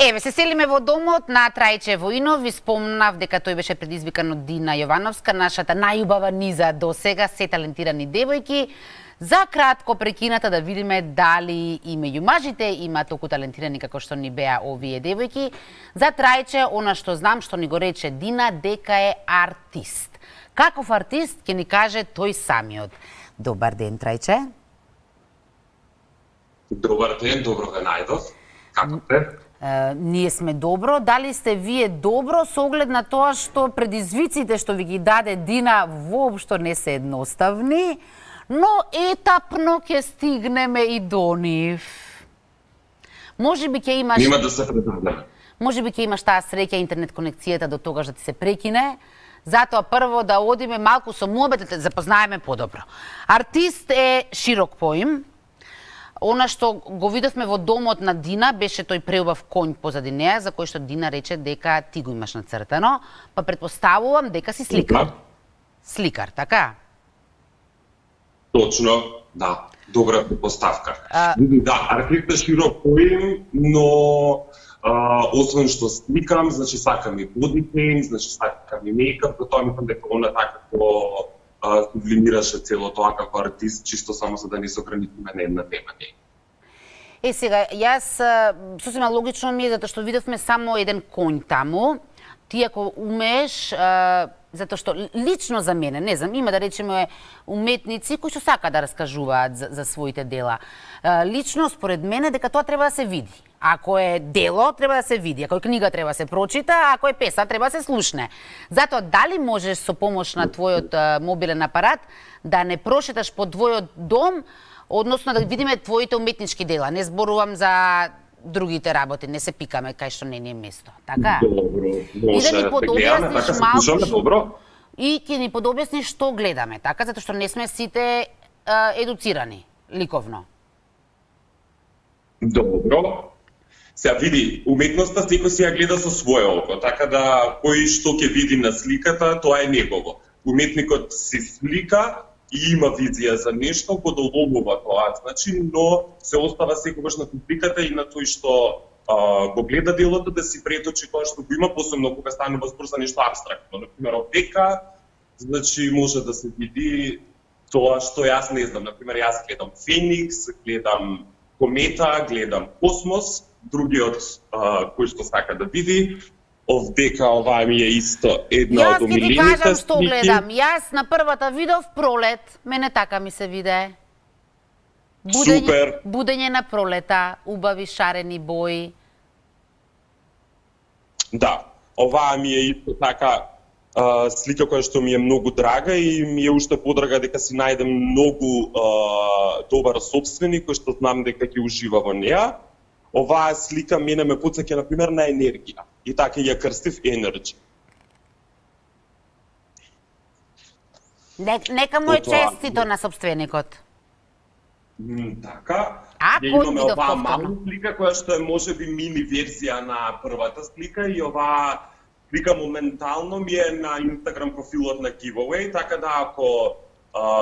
Еве, се селиме во домот на Трајче Воинов. Ви спомнав дека тој беше предизвикан од Дина Јовановска, нашата најубава низа до сега, се талентирани девојки. За кратко прекината да видиме дали и меѓу мажите има толку талентирани како што ни беа овие девојки. За Трајче, она што знам, што ни го рече Дина, дека е артист. Каков артист, ќе ни каже тој самиот. Добар ден, Трајче. Добар ден, добро ве најдов. Како сте? Ние сме добро. Дали сте вие добро со оглед на тоа што предизвиците што ви ги даде Дина воопшто не се едноставни, но етапно ќе стигнеме и до нив. Можеби ќе имаш... Нема да се предадеме. Можеби ќе имаш таа среќа интернет конекцијата до тогаш да ти се прекине. Затоа прво да одиме малку со муабет, да те запознаеме подобро. Артист е широк поим. Она што го видовме во домот на Дина беше тој преубав конј позади неа, за кој што Дина рече дека ти го имаш нацртано, па предпоставувам дека си сликар. Сликар, така? Точно, да. Добра предпоставка. Да, артист е широк поим, но освен што сликам, значи сакам и body paint, значи сакам и мејкап, тоа мислам дека она така како сублимираше цело тоа како артист, чисто само за да не се ограничиме на една тема. Сега, јас сосема логично ми е, затоа што видовме само еден конј таму. Ти ако умееш, затоа што лично за мене, не знам, има да речеме уметници кои што сака да раскажуваат за своите дела. Лично според мене дека тоа треба да се види. Ако е дело, треба да се види. Ако е книга, треба да се прочита. Ако е песна, треба да се слушне. Затоа, дали можеш со помош на твојот мобилен апарат да не прошеташ по твојот дом, односно да видиме твоите уметнички дела. Не зборувам за другите работи, не се пикаме кај што не е место. Така? Добро, може. И да ни подобјасниш така малку добро. И ќе ни подобјасниш што гледаме, така? Затоа што не сме сите едуцирани ликовно. Добро. Сега види, уметноста секој си ја гледа со свое око, така да кој што ќе види на сликата, тоа е негово. Уметникот си слика и има визија за нешто, го доловува тоа, значи, но се остава секогаш на публиката и на тој што го гледа делото да си преточи тоа што го има, посебно кога станува збор за нешто апстрактно. Например, опека, значи може да се види тоа што јас не знам. Например, јас гледам Феникс, гледам Комета, гледам Космос, другиот кој што сака да види, овдека оваа ми е исто една од омилените слики. Јас ќе ти кажам што гледам. Јас на првата видов Пролет, мене така ми се виде. Супер. Будење на пролета, убави шарени бои. Да, оваа ми е исто така слика која што ми е многу драга и ми е уште подрага дека си најдем многу добар собственик кој што знам дека ќе ужива во неа. Оваа слика мене ме потсеќа например на енергија и така ја крстив Energy. Нека му е честито на собственикот. Така. Ја имаме оваа мала слика која што е можеби мини верзија на првата слика и оваа слика моментално ми е на Инстаграм профилот на Giveaway, така да ако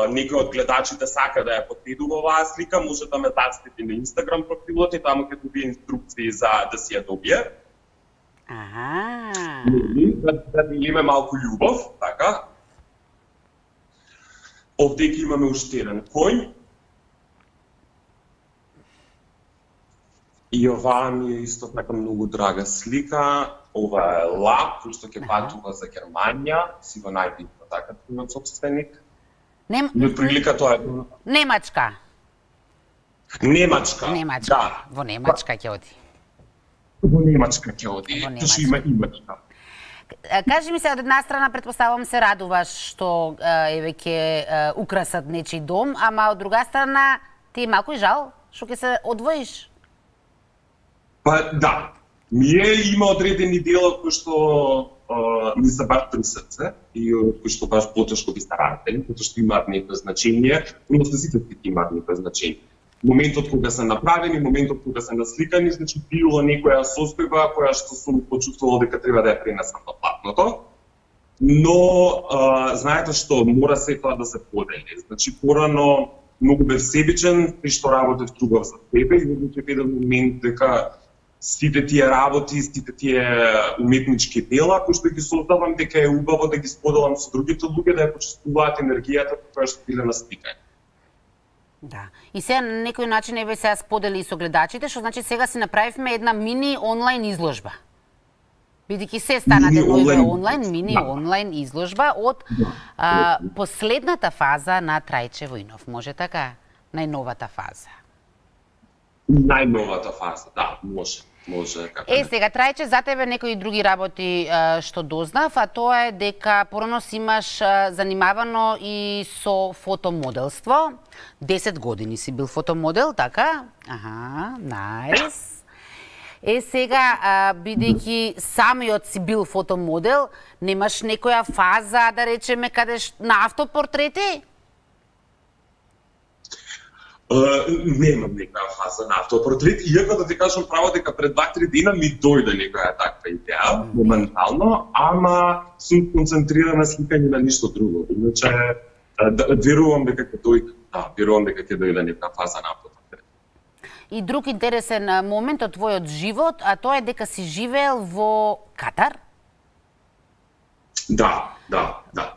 некој од гледачите сака да ја последува оваа слика, може да ме зацети на Инстаграм профилот и таму ќе добие инструкции за да си ја добие. Да делиме малку љубов, така. Овдека имаме уште еден конј. И оваа ми е исто така многу драга слика. Ова е лап, кој што ќе патува за Германија, си го најде така твојот собственик. И прилика тоа е... Немачка. Немачка, да. Во Немачка ќе оди. Во Немачка ќе оди. Тоа има имачка. Кажи ми се, од една страна претпоставам се радуваш што еве ќе украсат нечи дом, ама од друга страна ти е малку и жал што ќе се одвоиш. Па да. Има одредени дела кои што ми се баш при срце и кои што баш потешко би старателни, затоа што имаат некој значење, но сите имаат некој значење. Моментот кога се направени, моментот кога се насликани, значи било некоја состојба која што сум почувствувал дека треба да ја пренесам на платното. Но знаете што, мора се тоа да се подели. Значи порано многу бев себичен, при што работев трубав за себе и во еден момент дека сите тие работи, сите тие уметнички дела кои што ги создавам, дека е убаво да ги споделам со другите луѓе, да ја почувствуваат енергијата која што биле на сликање. Да. И сега на некој начин еве сега сподели и со гледачите, што значи сега си направивме една мини онлайн изложба. Бидејќи се стана мини онлайн изложба од последната фаза на Трајче Војнов, може така? Најновата фаза. Најновата фаза, да, може. Сега, Трајче, за тебе некои други работи што дознав, а тоа е дека порано си имаш занимавано и со фотомоделство. 10 години си бил фотомодел, така? Аха, најс. Сега, бидејќи самиот си бил фотомодел, немаш некоја фаза, да речеме, кадеш на автопортрети? Немам некоја фаза на автопортрет, иако да ти кажам право дека пред 2-3 дена ми дојде некоја таква идеја, моментално, ама сум концентрирана на сликање на ништо друго. Иначе, верувам дека ќе дојде некоја фаза на автопортрет. И друг интересен момент од твојот живот, а тоа е дека си живеел во Катар? Да.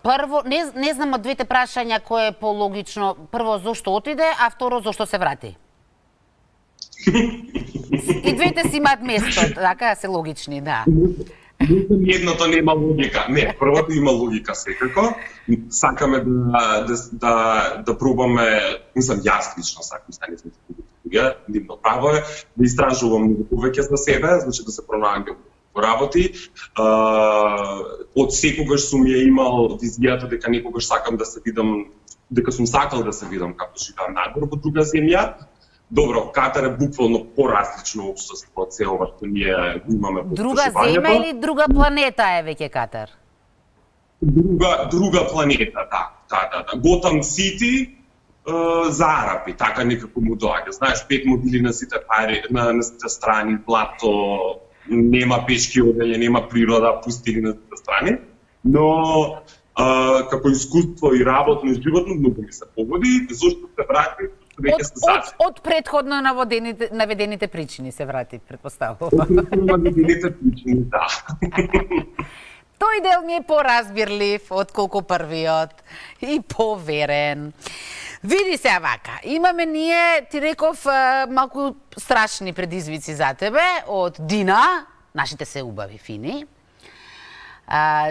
Прво, не знам од двете прашања кое е пологично. Прво, зошто отиде, а второ, зошто се врати? И двете си имаат место, така се логични, да. Едното нема логика. Не, првото има логика секако. Сакаме да пробаме, мислам, јас лично сакам, не сме луѓе, нивно право е, да истражувам многу повеќе за себе, значи да се пронаѓам во работи. Од секогаш сум ја имал визијата дека некогаш сакам да се видам, дека сум сакал да се видам како живеам надвор во друга земја. Добро, Катар е буквално поразлично општество од се ова што ние имаме во друга земја или друга планета е веќе Катар? Друга планета, да. Готам Сити за арапи, така некако му доаѓа. Знаеш, 5 мобили на сите пари, на сите страни, плато, нема пешки оделје, нема природа, пустини на сите страни, но како искуство и работно и животно многу ми се погоди, зашто се врати, веќе се сачи. Од предходно наведените причини се врати, предпоставувам. Од предходно наведените причини, да. Тој дел ми е поразбирлив отколку првиот и поверен. Види се вака, имаме ние, ти реков, малку страшни предизвици за тебе од Дина, нашите се убави, фини.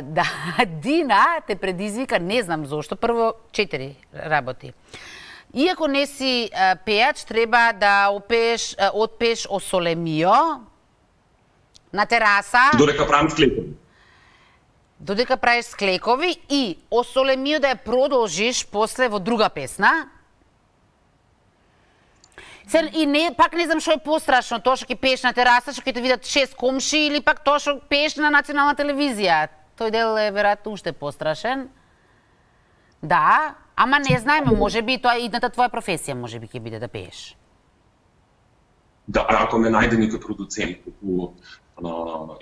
Да, Дина те предизвика, не знам зошто, прво 4 работи. Иако не си пејач, треба да отпееш О Соле Мио на тераса. Додека правам склекови. Додека правиш склекови и О Соле Мио да ја продолжиш после во друга песна. И пак не знам што е пострашно, тоа што ќе пееш на тераса, што ќе те видат 6 комши, или пак тоа што пееш на национална телевизија. Тој дел е веројатно уште пострашен. Да, ама не знаеме, можеби тоа идната твоја професија, можеби ќе биде да пееш. Да, ако ме најде некој продуцент по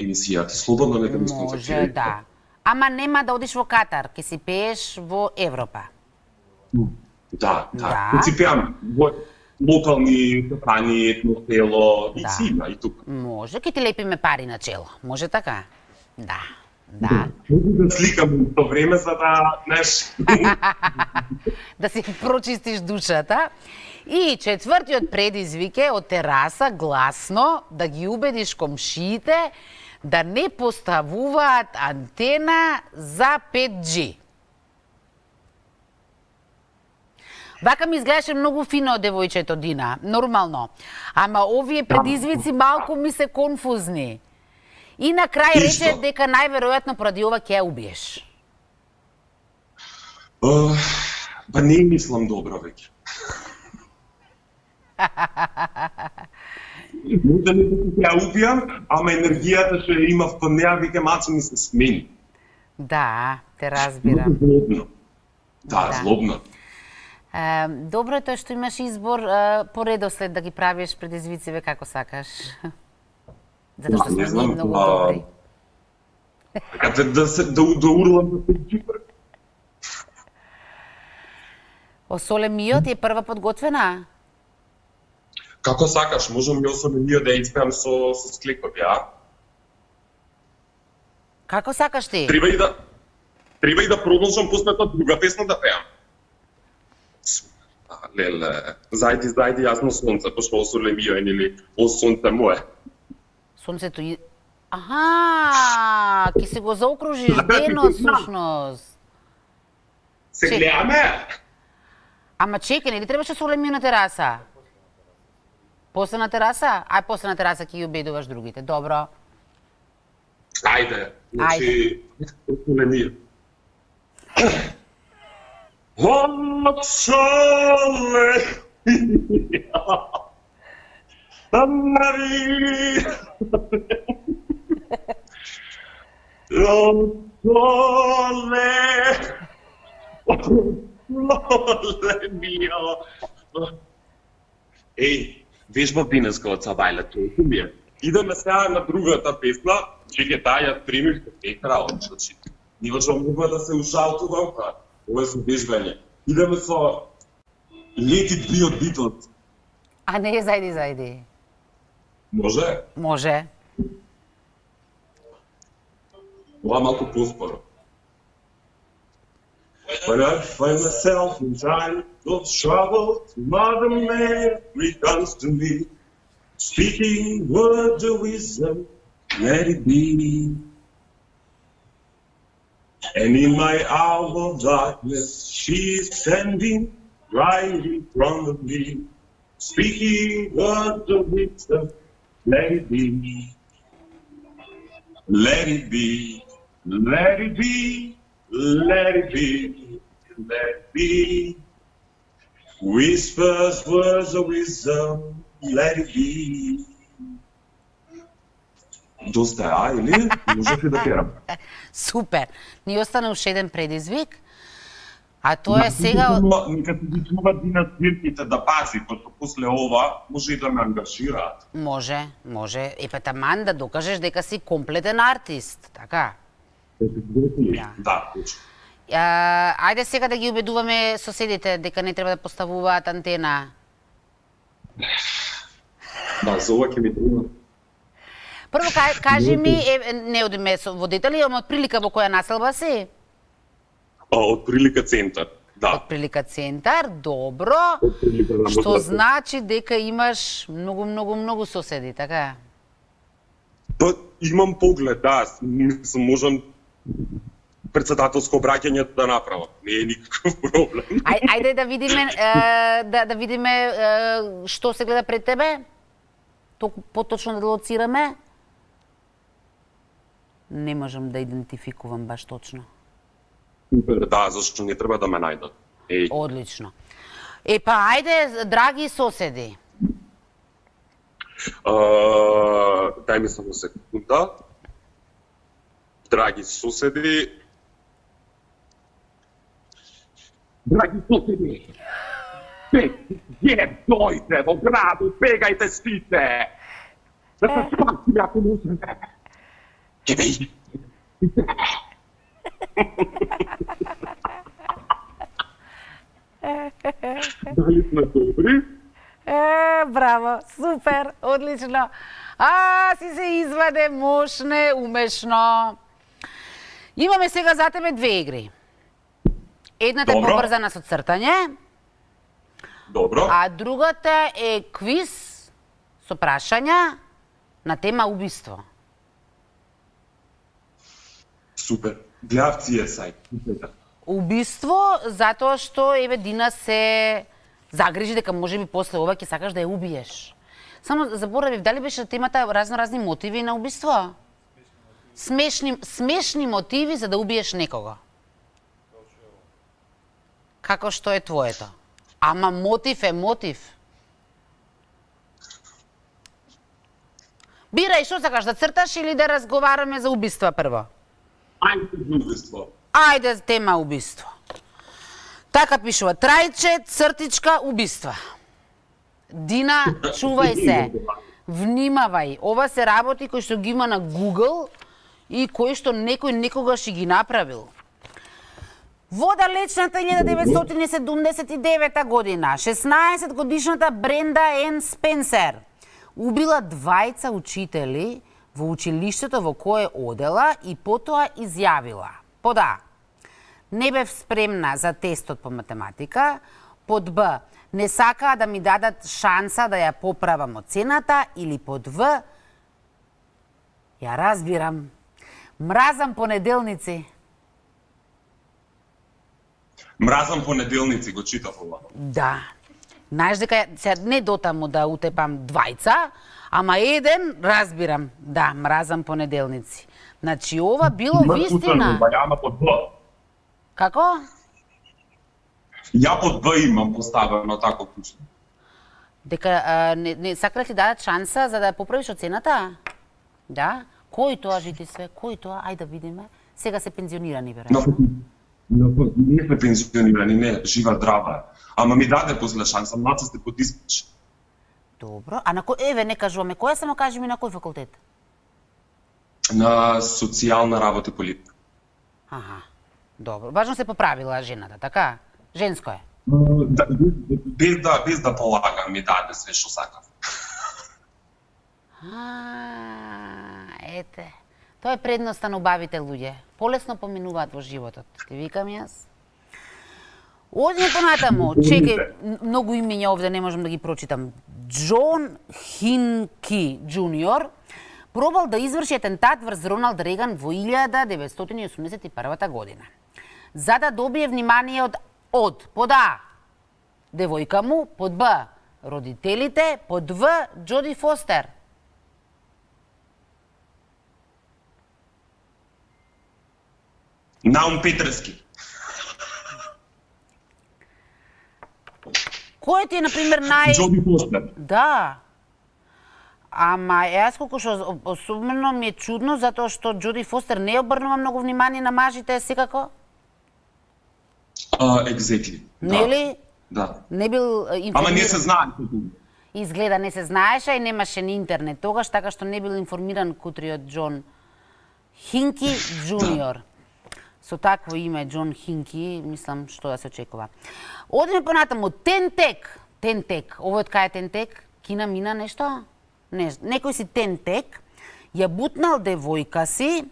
емисијата, слободно нека ми сконтактира. Може, да. Ама нема да одиш во Катар, ќе си пееш во Европа. Да. Ќе си пеам во локални кафани, етносело, и си има, и тука. Може, ќе ти лепиме пари на чело, може така? Да. Да сликам то време за да, знаеш... Да си прочистиш душата. И четвртиот предизвик е од тераса гласно да ги убедиш комшиите да не поставуваат антена за 5G. Вака ми изгледаше многу фино од девојчето Дина, нормално. Ама овие предизвици малку ми се конфузни. И на крај рече дека најверојатно поради ова ќе ја убиеш. Па не мислам добро веќе. Може ли да ќе ја убијам, ама енергијата што ја имав кон неа веќе малку ми се смени. Да, те разбирам. Злобно. Да, злобно. Добро е тоа што имаш избор по редослед да ги правиш предизвициве како сакаш. Затоа што сме ние многу добри. Така да урлам да се джипар. О Соле Мио ти е прва подготвена? Како сакаш, можам и особено да испеам со склекови, а? Како сакаш ти? Треба и да продолжам после тоа друга песна да пеам. Леле, зајди, јасно сонце, пошто осоле мио или о сонце мое. Сонцето и... Аха, ки се го заокружиш денот, сушност. Се гледаме? Ама чекай, нели требаше соле мио на тераса? После на тераса? Ај, после на тераса ќе ги убедуваш другите, добро. Ајде, значи, осоле мио. От соле Мария, от соле мио. Еј, вежба денеска од Сабајлето, ми е. Идеме сега на другата песна, чеке таа ја примив екра, значи, не можам да се ушалтувам, ова е со вежбање. Идеме со Let It Be од Beatles. А не, зајди. Може? Може. Ова малку поспоро. When I find myself in time of trouble, Mother Mary comes to me, speaking words of wisdom, let it be. And in my hour of darkness, she is standing right in front of me, speaking words of wisdom, let it be. Let it be, let it be, let it be, let it be. Whispers words of wisdom, let it be. Доста е, или? Можеш ли да перам? Супер. Ни остана уште еден предизвик, а тоа е сега... Нека се дичува Дина свирките да пази, пошто после ова може и да ме ангажираат. Може. Епа таман да докажеш дека си комплетен артист, така? Да, точно. Ајде сега да ги убедуваме соседите дека не треба да поставуваат антена. Да, за ова ќе ми треба. Прво, кажи ми, не одиме со водители, ама од прилика во која населба си? Од прилика центар, да. Од прилика центар, добро. Што значи дека имаш многу соседи, така? Па, имам поглед, да. Мислам, можам председателско обраќање да направам. Не е никаков проблем. Ајде да видиме што се гледа пред тебе. Поточно да лоцираме. Не можам да идентификувам баш точно. Да, зашто не треба да ме најдат. Одлично. Епа, ајде, драги соседи. Дај ми само секунда. Драги соседи. Драги соседи. Дојде во градот, бегајте сите. Да се спасиме ако можеме. Ќе бејте. Дали сме добри? Браво, супер, одлично. Си се изваде, мошне, умешно. Имаме сега за тебе две игри. Едната е побрзана со цртање. Добро. А другата е квиз со прашања на тема убиство. Супер. Гледав тие сајт. Убиство, затоа што еве Дина се загрижи дека можеби после ова ќе сакаш да ја убиеш. Само заборавив, дали беше темата разни мотиви на убиство? Смешни мотиви за да убиеш некого. Како што е твоето? Ама мотив е мотив. Бирај, што сакаш, да црташ или да разговараме за убиства прво? Ајде за убиство. Ајде, тема убиство. Така пишува, трајче, цртичка, убиства. Дина, чувај се. Внимавај, ова се работи кои што ги има на Google и кои што некој некогаш и ги направил. Во далечната 1979 година, 16 годишната Бренда Н. Спенсер убила двајца учители во училиштето во кое одела и потоа изјавила: под А, не бев спремна за тестот по математика, под Б, не сакаа да ми дадат шанса да ја поправам оцената, или под В, ја разбирам, мразам понеделници. Мразам понеделници, го читав ова. Да. Знаеш дека сега не дотаму да утепам двајца, ама еден разбирам. Да, мразам понеделници. Значи ова било вистина. Ја под Б. Како? Ја под Б имам поставено тако кучно. Дека не сакале ти дадат шанса за да поправиш оцената? Да? Кој тоа, жити све? Кој тоа? Ајде да видиме. Сега се пензионирани, веројатно. Не сме пензионирани, не, жива здрава. Ама ми даде после шанса, млад сте под испич. Добро. А на кој, еве, не кажуваме, која само кажи ми на кој факултет? На социјална работа и политика. Аха. Добро. Важно се поправила жената, така? Женско е. Да, без да полагам ми даде све што сакав. Ете. Тоа е предноста на убавите луѓе. Полесно поминуваат во животот. Ти викам јас. Одиме понатаму. Чекај, многу имења овде не можам да ги прочитам. Џон Хинки Џуниор пробал да изврши атентат врз Роналд Реган во 1981 година. За да добие внимание од под А, девојка му, под Б, родителите, под В, Џоди Фостер. Наум Петрески. Кој ти е, например, Џоди Фостер. Да. Ама јас колку што особено ми е чудно затоа што Џоди Фостер не обрнува многу внимание на мажите секако. Exactly. Нели? Да. Не бил информиран. Ама не се знае. Изгледа не се знаеше и немаше ни интернет тогаш, така што не бил информиран кутриот Џон Хинки Џуниор. Со такво име Џон Хинки, мислам што да се очекува. Одиме понатаму. Тентек. Тентек. Овој од кај е Тентек? Кина мина нешто? Не, некој си Тентек ја бутнал девојка си,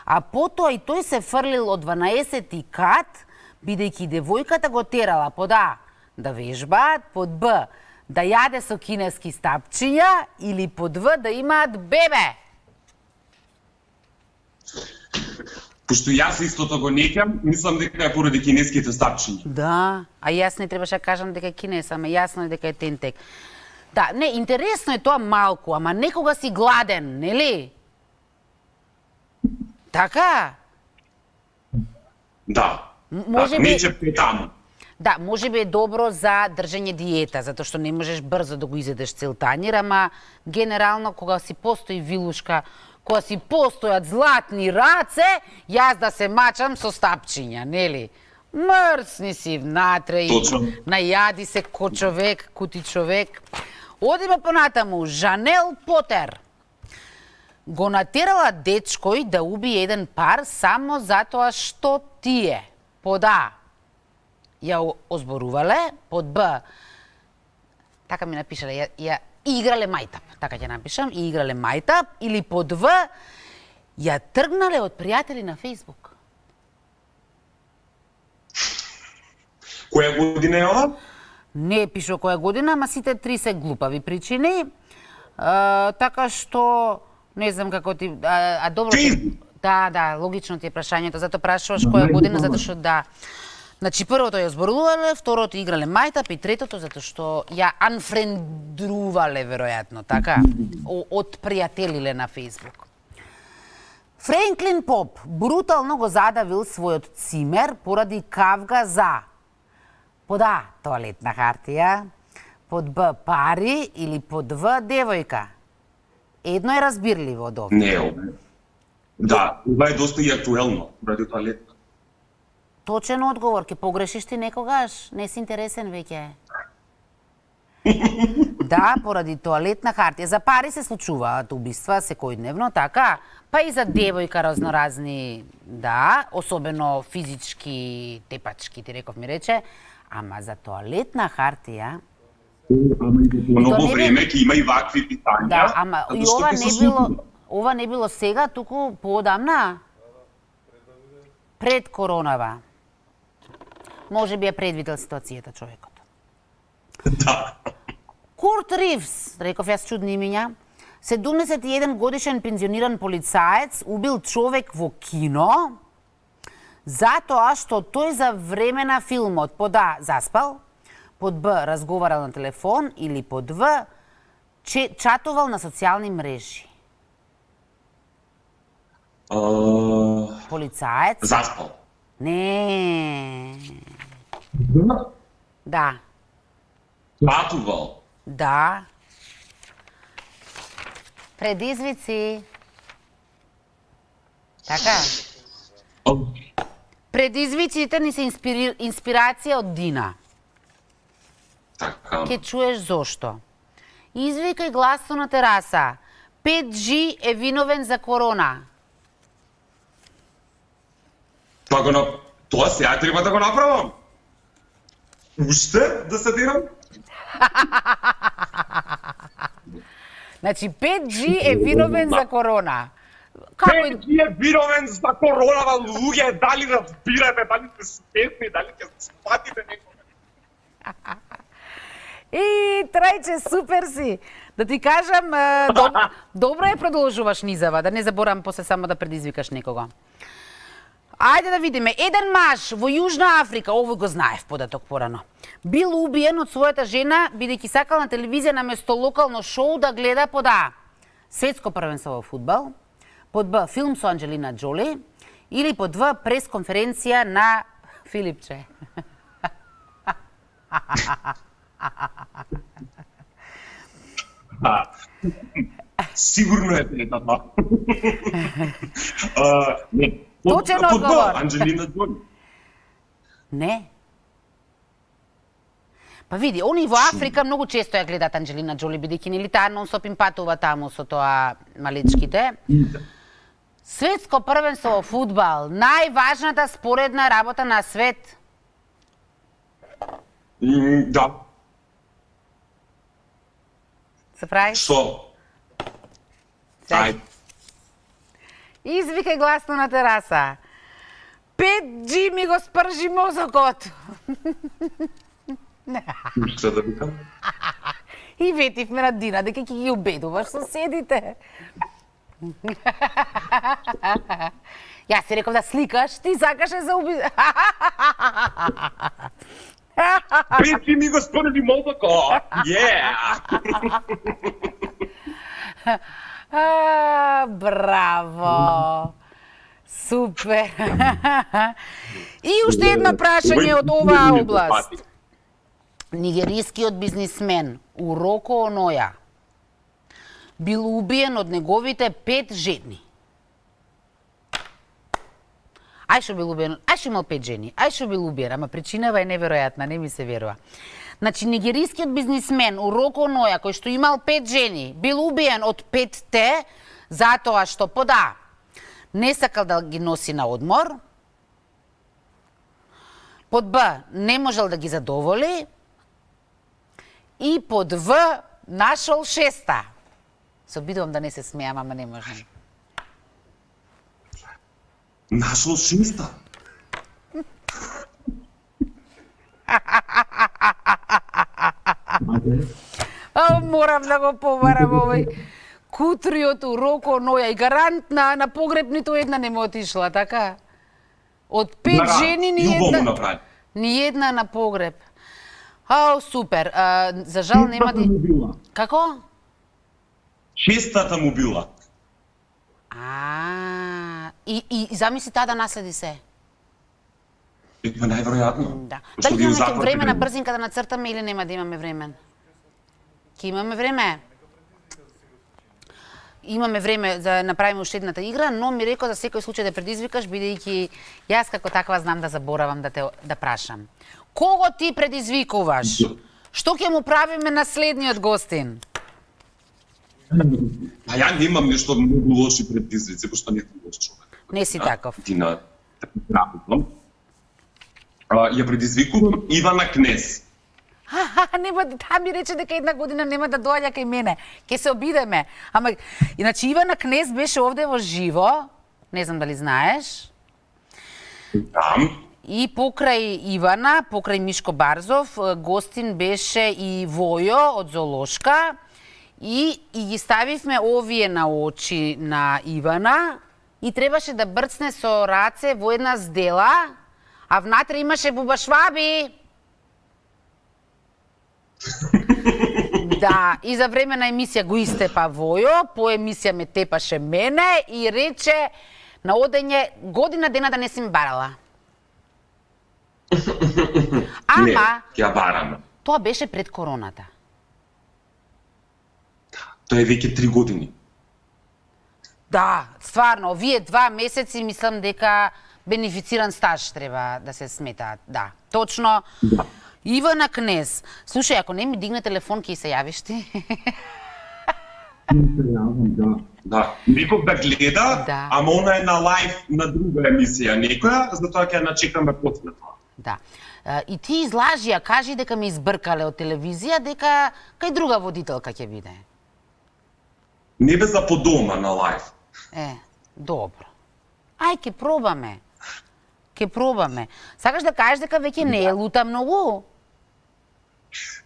а потоа и тој се фрлил од 12-ти кат, бидејќи девојката го терала под А да вежбаат, под Б да јаде со кинески стапчиња или под В да имаат бебе. Пошто јас истото го неќам, мислам дека е поради кинеските стапчиња. Да, а јас не требаше да кажам дека е кинес, ама јасно е дека е Тентек. Да, не, интересно е тоа малку, ама некога си гладен, нели? Така? Да. Може би... Нече таму. Да, може би е добро за држање диета, затоа што не можеш брзо да го изедеш цел тањер, ама генерално кога си постои вилушка, кога си постојат златни раце, јас да се мачам со стапчиња, нели? Мрсни си внатре и најади се ко човек, кути човек. Одиме понатаму. Жанел Потер го натерала дечкој да убие еден пар само затоа што тие под А ја озборувале, под Б така ми напишале, ја играле мајтап, така ќе напишам, и играле мајтап, или под В ја тргнале од пријатели на Фејсбук. Која година е ова? Не пише која година, ама сите три се глупави причини. Така што не знам како ти добро. Да, логично ти е прашањето, затоа прашуваш која година, затоа што да. Значи првото ја зборувале, второто играле мајтап и третото затоа што ја анфрендрувале веројатно, така, отпријателиле на Фејсбук. Френклин Поп брутално го задавил својот цимер поради кавга за под А тоалетна хартија, под Б пари или под В девојка. Едно е разбирливо од овде. Не, ова. Да, ова е доста и актуелно, ради тоалетна. Точен одговор, ке погрешиш ти некогаш, не си интересен веќе. Да, поради тоалетна хартија. За пари се случуваат убиства секојдневно, така? Па и за девојка разноразни, да, особено физички, тепачки, ти реков ми рече, ама за тоалетна хартија... Многу време ќе има и вакви питања. Да, ама и ова не било сега, туку поодамна? Пред коронава. Може би ја предвидел ситуацијата човекот. Да. Курт Ривз, реков јас чудни имиња, 71 годишен пензиониран полицаец убил човек во кино затоа што тој за време на филмот под А заспал, под Б разговарал на телефон или под В чатувал на социјални мрежи. Полицаец? Заспал. Не. Да. Чатувал. Да. Предизвици. Така. Предизвиците ни се инспирација од Дина. Така. Ке чуеш зошто. Извикај гласно на тераса. 5G е виновен за корона. Тоа сега треба да го направам. Уште да се дирам? Значи 5G е виновен за корона. 5G е виновен за коронава, луѓе, дали разбирате, дали сте свесни, дали ќе спатите некој. И Трајче, супер си. Да ти кажам, добро е продолжуваш низава, да не заборам после само да предизвикаш некого. Ајде да видиме. Еден маж во Јужна Африка, овој го знаев податок порано, бил убиен од својата жена, бидејќи сакал на телевизија наместо локално шоу да гледа под А светско првенство во фудбал, под Б филм со Анџелина Џоли или под В пресконференција на Филипче. Сигурно е третата. Точен одговор. Анџелина Џоли. Не. Па види, они во Африка многу често ја гледат Анџелина Џоли, бидејќи нели таа нон-стоп им патува таму со тоа малечките. Светско првенство во фудбал, најважната споредна работа на свет. Да. Се прави? Што? Ајде. Извикај гласно на тераса. 5G ми го спржи мозокот. Што да викам? И ветивме на Дина дека ќе ги убедуваш соседите. Јас си реков да сликаш, ти сакаше за уби... 5G ми го спржи мозокот. Браво! Супер! И уште едно прашање од оваа област. Нигерискиот бизнисмен Уроко Оноја бил убиен од неговите 5 жени. Ај што бил убиен, ај што имал 5 жени, ај што бил убиен, ама причинава е неверојатна, не ми се верува. Значи, нигерискиот бизнисмен Уроко Оноја, кој што имал 5 жени, бил убиен од 5-те, затоа што под А не сакал да ги носи на одмор, под Б не можел да ги задоволи и под В нашол 6-та. Се обидувам да не се смеам, ама не можам. Нашол 6-та? Морам да го побарам овој кутриот Уроко Оноја и гарант на погреб ниту една не му отишла, така? Од 5 жени ни една на погреб. Супер. За жал нема да... Како? 6-тата му била. И замисли таа да наследи се. Најверојатно. Да. Дали имаме време на брзинка да нацртаме или нема да имаме време? Ке имаме време? Имаме време да направиме уште едната игра, но ми рекол за секој случај да предизвикаш, бидејќи јас како таква знам да заборавам да прашам. Кого ти предизвикуваш? Што ќе му правиме на следниот гостин? Па ја немам нешто многу лоши предизвици, пошто не сум лош човек. Не си таков. Тина, ја предизвикувам Ивана Кнез. Нема, таа ми рече дека една година нема да доаѓа кај мене. Ке се обидеме. Ама, иначе Ивана Кнез беше овде во живо, не знам дали знаеш. И покрај Ивана, покрај Мишко Барзов, гостин беше и Војо од Зоолошка и ги ставивме овие на очи на Ивана и требаше да брцне со раце во една здела, а внатре имаше бубашваби. Да, и за време на емисија го истепа Војо, по емисија ме тепаше мене и рече на одење година дена да не си ме барала. Ама, Не, ќе барам. Тоа беше пред короната. Тоа е веќе 3 години. Да, стварно, овие 2 месеци мислам дека бенефициран стаж треба да се сметаат. Да, точно. Да. Ивана Кнез. Слушај, ако не ми дигне телефон, ќе се јавиш ти? Да. Некој да гледа, Да. ама она е на лайв на друга емисија некоја, затоа ќе ја начекаме после тоа. Да. И ти излажи, ја кажи дека ме избркале од телевизија, дека кај друга водителка ќе биде. Не бе за по дома на лайв. Добро. Ај, ќе пробаме. Ќе пробаме. Сакаш да кажеш дека веќе не е лута многу?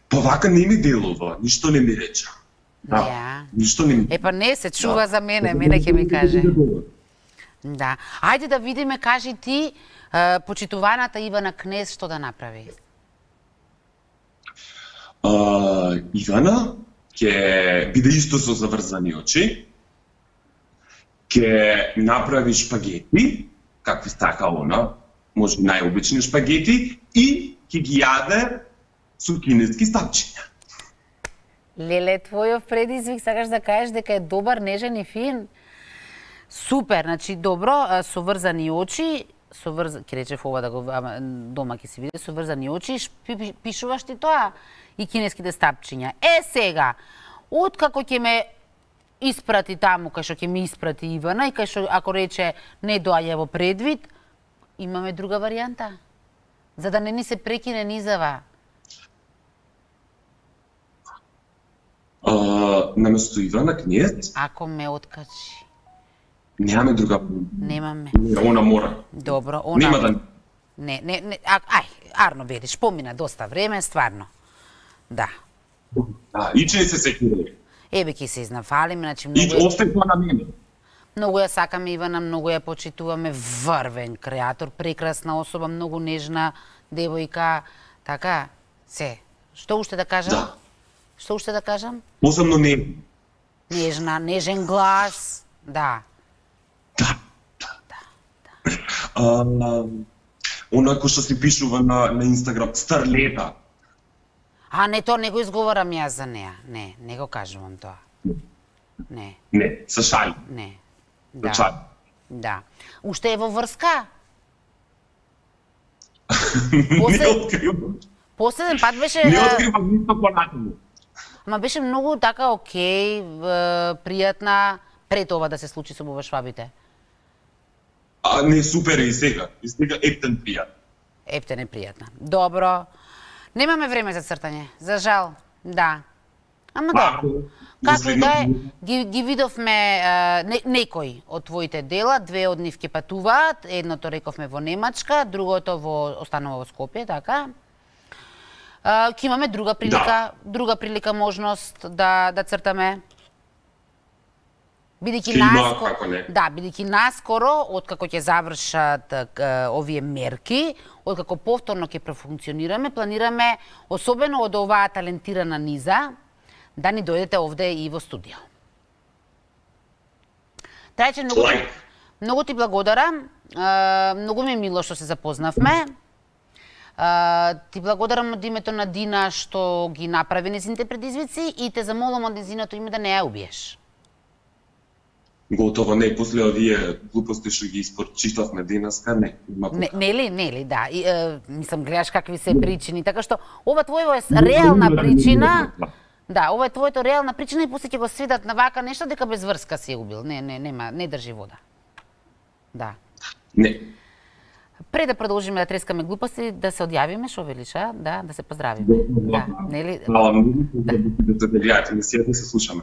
Па вака не ми делува, ништо не ми рече. Да, Ја. ништо не ми... Епа не се чува за мене ќе ми каже. Да. Ајде да видиме, кажи ти, почитуваната Ивана Кнез што да направи? Ивана ќе биде исто со заврзани очи, ќе направи шпагети, какви сака она, може најобични шпагети, и ќе ги јаде со кинески стапчиња. Леле, твојов предизвик, сакаш да кажеш дека е добар, нежен и фин? Супер, значи добро, со врзани очи, ќе речев ова да го дома ќе си види, со врзани очи, пишуваш ти тоа и кинеските стапчиња. Сега, откако ќе ме испрати таму, кај што ќе ми испрати Ивана и кај што ако рече не доаѓа во предвид, имаме друга варијанта. За да не ни се прекине низава. Наместо Ивана Кнез, Ако ме откачи. немаме друга. Немаме. Она мора. Добро, она... Нема да... Не, ај, Арно Велиш, помина доста време, стварно. Да. И че се секира. Ебе, ќе се изнафалиме, значи И остај тоа на мене. многу ја сакаме Ивана, многу ја почитуваме, врвен креатор, прекрасна особа, многу нежна девојка, така, се. Што уште да кажам? Да. Што уште да кажам? Посебно не. Нежна, нежен глас, да. Она кој што си пишува на Инстаграм, Старлета. Не, тоа не го изговорам јас за неа. Не го кажувам тоа. Не. Не, се шали. Не. Да. Шали. Да. Уште е во врска? Не откривам. Последен пат беше... Не откривам ништо понатаму. Ама беше многу така окей, пријатна, пред ова да се случи со бубашвабите. Не, супер е и сега. И сега ептен пријат. Ептен е пријатна. Добро. Немаме време за цртање, за жал. Да. Ама добро. Како и да е, ги видовме некои од твоите дела, 2 од нив ќе патуваат, едното рековме во Немачка, другото останува во Скопје, така? Ќе имаме друга прилика можност да цртаме. Бидејќи наскоро, откако ќе завршат овие мерки, откако повторно ќе профункционираме, планираме, особено од оваа талентирана низа, да ни дојдете овде и во студио. Трајче, многу ти благодарам, многу ми е мило што се запознавме. Ти благодарам од името на Дина што ги направи незините предизвици и те замолам од незиното име да не ја убиеш. готово не, после овие глупости што ги испорчитавме денеска, не. Нели, да. И, мислам, гледаш какви се причини, така што ова твојо е реална причина. Да, ова е твоето реална причина и после ќе го сведат на вака нешто дека без врска си убил. Не држи вода. Да. Не. Пред да продолжиме да трескаме глупости, да се одјавиме, шо велиш, да се поздравиме. Да, нели? Да се гледате, не се слушаме.